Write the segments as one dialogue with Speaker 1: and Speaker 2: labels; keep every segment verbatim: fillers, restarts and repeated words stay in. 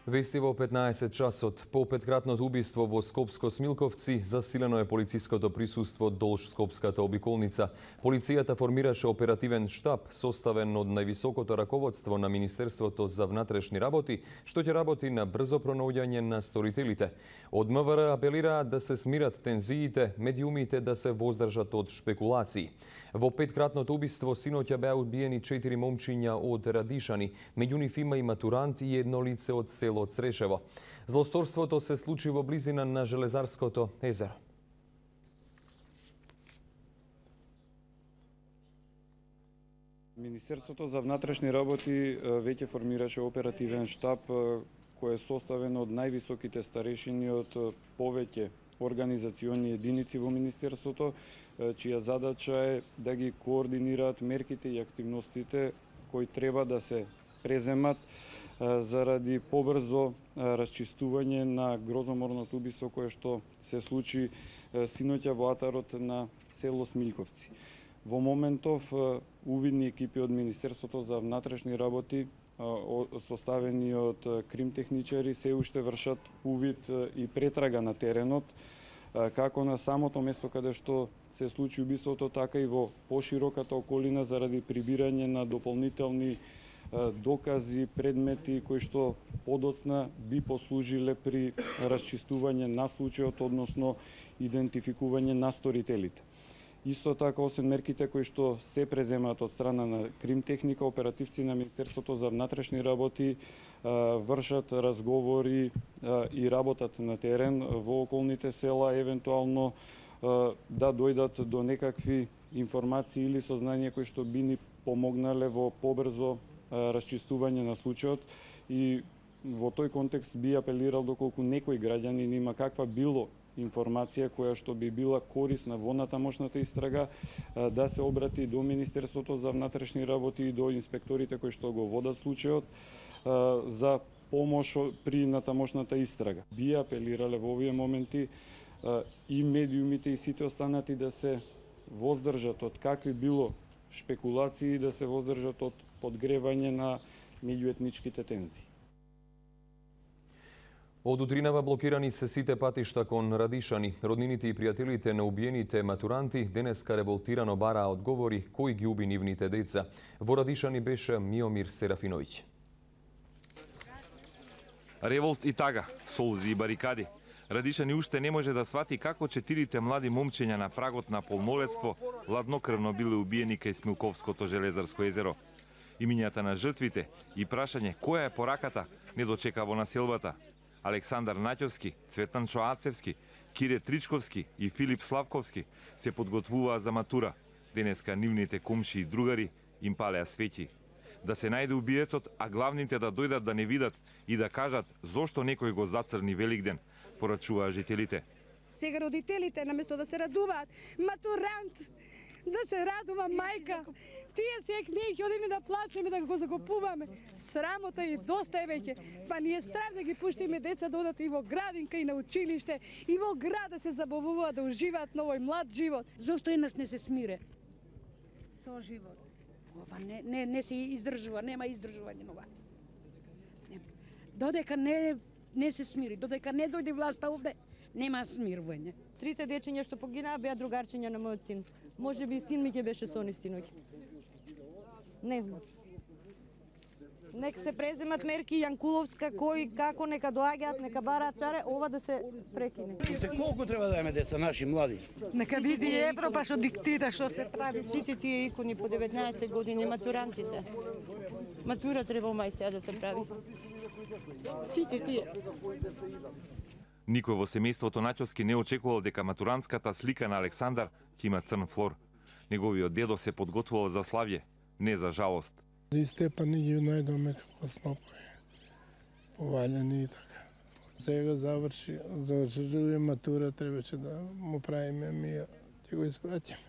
Speaker 1: Вести во петнаесет часот. По петкратното убиство во Скопско-Смилковци засилено е полициското присуство долж Скопската обиколница. Полицијата формираше оперативен штаб составен од највисокото раководство на Министерството за внатрешни работи, што ќе работи на брзо пронаоѓање на сторителите. Од МВР апелираат да се смират тензиите, медиумите да се воздржат од шпекулации. Во петкратното убиство синоќа беа убиени четири момчиња од Радишани, меѓу нив има и матурант и едно лице од село Црешево. Злосторството се случи во близина на Железарското езеро.
Speaker 2: Министерството за внатрешни работи веќе формираше оперативен штаб кој е составен од највисоките старешини од повеќе организациони единици во Министерството, чија задача е да ги координираат мерките и активностите кои треба да се преземат заради побрзо расчистување на грозоморното убиство кое што се случи синоќа во атарот на село Смилковци. Во моментов увидни екипи од Министерството за внатрешни работи составени од кримтехничари се уште вршат увид и претрага на теренот, како на самото место каде што се случи убиството, така и во пошироката околина заради прибирање на дополнителни докази, предмети кои што подоцна би послужиле при расчистување на случајот, односно идентификување на сторителите. Исто така, освен мерките кои што се преземаат од страна на кримтехника, оперативци на Министерството за внатрешни работи вршат разговори и работат на терен во околните села, евентуално да дојдат до некакви информации или сознанија кои што би ни помогнале во побрзо расчистување на случајот, и во тој контекст би апелирал доколку некој граѓанин има каква било информација која што би била корисна во натамошната истрага, да се обрати до Министерството за внатрешни работи и до инспекторите кои што го водат случајот за помош при натамошната истрага. Би апелирале во овие моменти и медиумите и сите останати да се воздржат од какви било шпекулации, да се воздржат од подгревање на меѓуетничките тензии.
Speaker 1: Од утринава блокирани се сите патишта кон Радишани. Роднините и пријателите на убиените матуранти денеска револтирано бараа одговори кој ги уби нивните деца. Во Радишани беше Миомир Серафиновиќ.
Speaker 3: Револт и тага, солзи и барикади. Радишани уште не може да свати како четирите млади момчиња на прагот на полнолетство ладнокрвно биле убиени кај Смилковското Железарско езеро. Имињата на жртвите и прашање која е пораката не дочека во населбата. Александар Наќовски, Цветан Чоацевски, Кире Тричковски и Филип Славковски се подготвуваа за матура. Денеска нивните комши и другари им палеа свети. Да се најде убиецот, а главните да дојдат да не видат и да кажат зошто некој го зацрни Великден, порачуваа жителите.
Speaker 4: Сега родителите, наместо да се радуваат, матурант, да се радува мајка, тие сек ние ќе одиме да плачеме, да го закупуваме. Срамота и доста е веќе. Па ние страв да ги пуштиме деца да одат и во градинка, и на училиште, и во град да се забавуваат, да уживаат на овој млад живот.
Speaker 5: Зошто еднаш не се смире? Со живот. Ова не, не, не се издржува, нема издржување на ова. Додека не, не се смири, додека не дојде власта овде, нема смирување.
Speaker 6: Трите дечиња што погинаа беа другарчиња на мојот син. Може би син ми ќе беше со нив синоќ. Не знам. Нека се преземат мерки Јанкуловска, кој како нека доаѓаат, нека бараат чаре, ова да се прекине.
Speaker 7: Уште колку треба да имаме деца наши млади?
Speaker 5: Нека види Европа што диктира што се прави.
Speaker 6: Сите тие икони по деветнаесет години матуранти се. Матура треба мај сега да се прави. Сите тие.
Speaker 3: Никој во семејството Наќовски не очекувал дека матурантската слика на Александар ќе има црн флор. Неговиот дедо се подготвувал за славје, не за жалост.
Speaker 8: И Степани ги најдоме како снопови, повалени и така. Сега заврши, заврши матура, требаше да му правиме мија, ќе го испратиме.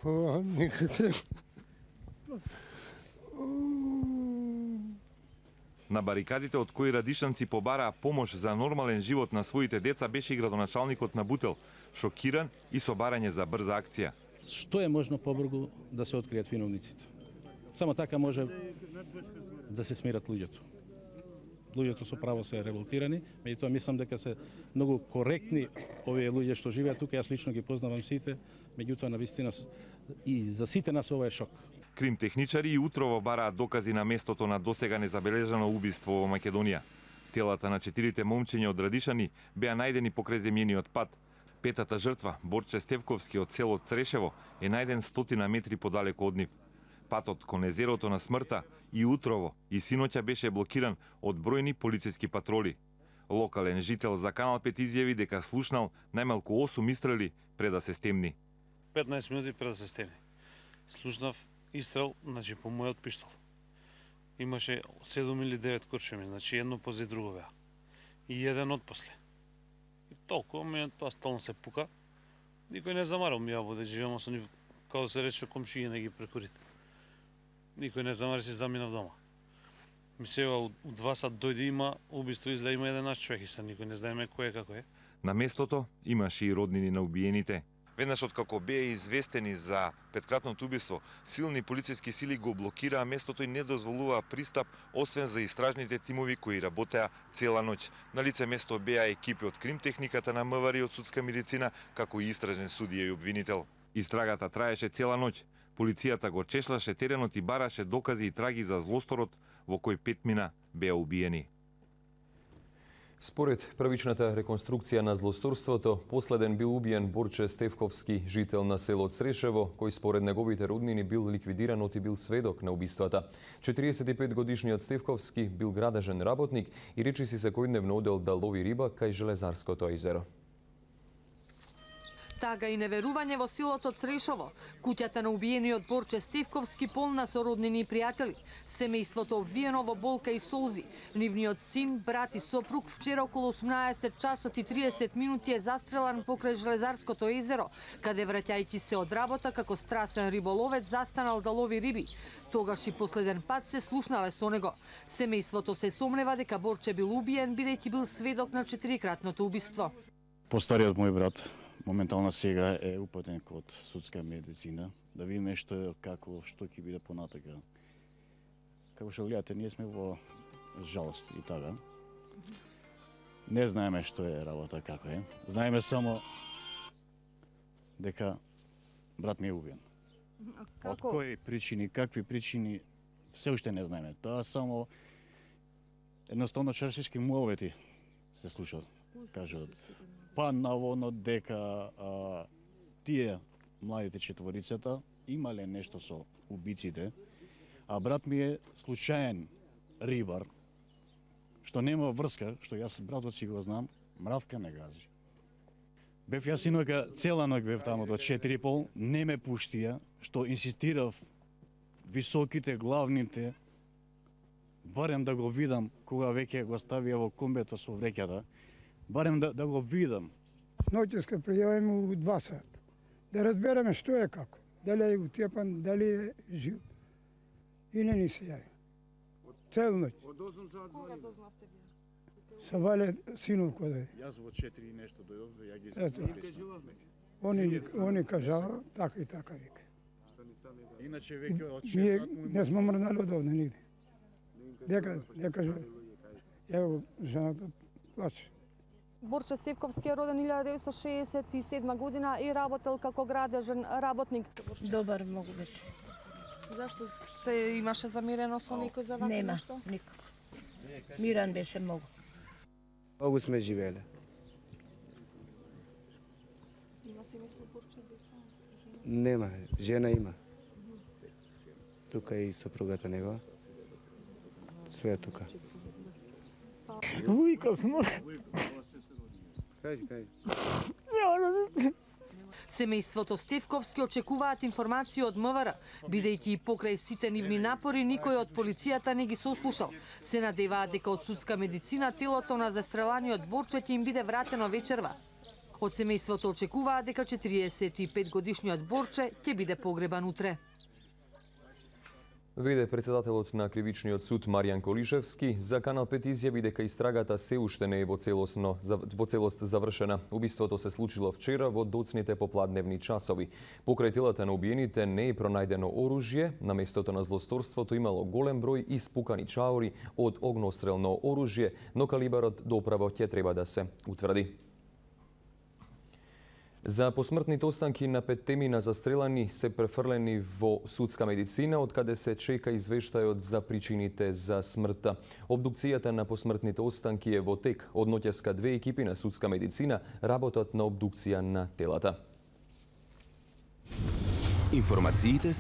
Speaker 8: О, никаде.
Speaker 3: На барикадите од кои радишанци побараа помош за нормален живот на своите деца беше и градоначалникот на Бутел, шокиран и со барање за брза акција.
Speaker 9: Што е можно побрзо да се откријат виновниците? Само така може да се смират луѓето. луѓето со право се револтирани, меѓутоа мислам дека се многу коректни овие луѓе што живеат тука, јас лично ги познавам сите, меѓутоа навистина и за сите нас ова е шок.
Speaker 3: Кримтехничари и утрово бараат докази на местото на досега незабележано убиство во Македонија. Телата на четирите момчиња од Радишани беа најдени покрај земјениот пат. Петата жртва, Борче Стевковски од село Црешево, е најден стотина метри подалеку од нив. Патот кон езерото на смртта и утрово и синоќа беше блокиран од бројни полициски патроли. Локален жител за Канал пет изјави дека слушнал најмалку осум истрели пред да се стемни.
Speaker 10: петнаесет минути пред да се стемни. Слушнав истрел, значи по мојот пиштол. Имаше седум или девет куршуми, значи едно пози друго беа. И еден од после. И толку, мене тоа стално се пука. Никој не замарал ми ја воде, живеам со нив, како се рече, комшије не ги прекурите. Никој не замари, си заминав дома. Ми сега у два сат дојде, има убиство, изгледа има еден човек и са никој не знаеме кој е како е.
Speaker 3: На местото имаше и роднини на убиените. Веднаш откако беа известени за петкратното убиство, силни полициски сили го блокираа местото и не дозволуваа пристап, освен за истражните тимови кои работеа цела ноќ. На лице место беа екипи од кримтехниката на МВР и од судска медицина, како и истражен судија и обвинител. Истрагата траеше цела ноќ. Полицијата го чешлаше теренот и бараше докази и траги за злосторот во кој петмина беа убиени.
Speaker 1: Според првичната реконструкција на злосторството, последен бил убиен Борче Стевковски, жител на село Црешево, кој според неговите роднини бил ликвидиран и бил сведок на убиствата. четириесет и пет годишниот Стевковски бил градежен работник и речиси секојдневно одел да лови риба кај Железарското езеро.
Speaker 11: Тага и неверување во селото Црешово. Куќата на убиениот Борче Стевковски полна со роднини и пријатели. Семејството обвиено во болка и солзи. Нивниот син, брат и сопруг вчера околу осумнаесет часот и триесет минути е застрелан покрај Железарското езеро, каде враќајќи се од работа како страсен риболовец застанал да лови риби. Тогаш и последен пат се слушнале со него. Семејството се сомнева дека Борче бил убиен бидејќи бил сведок на четирикратното убиство.
Speaker 12: Постариот мој брат моментално сега е упатен код судска медицина, да видиме што е, како, што ќе биде понатака. Како што гледате, ние сме во жалост и тага. Не знаеме што е работа, како е. Знаеме само дека брат ми е убиен. Од кои причини, какви причини, се уште не знаеме. Тоа само едноставно чаршишки муавети се слушат, кажат. Па наводно дека а, тие младите четворицата имале нешто со убиците, а брат ми е случаен рибар, што нема врска, што јас братот си го знам, мравка не гази. Бев јас синојка, цела ноќ бев таму до четири и пол, не ме пуштија, што инсистирав високите, главните, барем да го видам кога веќе го ставија во комбето со вреќата, барем да, да го видам.
Speaker 13: Ноќеска пријавиме у два сат. Да разбереме што е како. Дали е утјепан, дали е жив. И не ни се јави. Цел ноќ.
Speaker 12: Од осум сат кога дознавте
Speaker 13: вие? Са Вале синов кој дојде.
Speaker 12: Јас во четири нешто дојдов, ја ги
Speaker 13: кажувавме. Они они кажала така и така вика.
Speaker 12: Иначе веќе од
Speaker 13: Ние не сме мрнали од овде нигде. Дека дека Ево жената плаче.
Speaker 14: Борче Стевковски е роден илјада деветстотини шеесет и седма година и работел како градежен работник.
Speaker 15: Добар многу беше.
Speaker 14: Зашто се имаше замирено со некој за вака
Speaker 15: Нема,
Speaker 14: нешто?
Speaker 15: никако. Миран беше многу.
Speaker 16: Многу сме живееле.
Speaker 14: Има семејство Борче, деца?
Speaker 16: Нема, жена има. Тука и сопругата негова. Све е тука.
Speaker 13: Ујка смо.
Speaker 16: Кажи, кажи.
Speaker 11: Семејството Стевковски очекуваат информации од МВР, бидејќи и покрај сите нивни напори никој од полицијата не ги сослушал. Се надеваат дека од судска медицина телото на застреланиот Борче ќе им биде вратено вечерва. Од семејството очекуваат дека четириесет и пет годишниот Борче ќе биде погребан утре.
Speaker 1: Веде председателот на Кривичниот суд Маријан Колишевски за Канал пет изјави дека истрагата се уште не е во целосно во целост завршена. Убиството се случило вчера во доцните попладневни часови. Покрај телата на убиените не е пронајдено оружје, на местото на злосторството имало голем број испукани чаури од огнострелно оружје, но калибарот доправо ќе треба да се утврди. За посмртните останки на петтемина застрелани се префрлени во судска медицина, од каде се чека извештајот за причините за смртта. Обдукцијата на посмртните останки е во тек. Од ноќеска две екипи на судска медицина работат на обдукција на телата.
Speaker 17: Информациите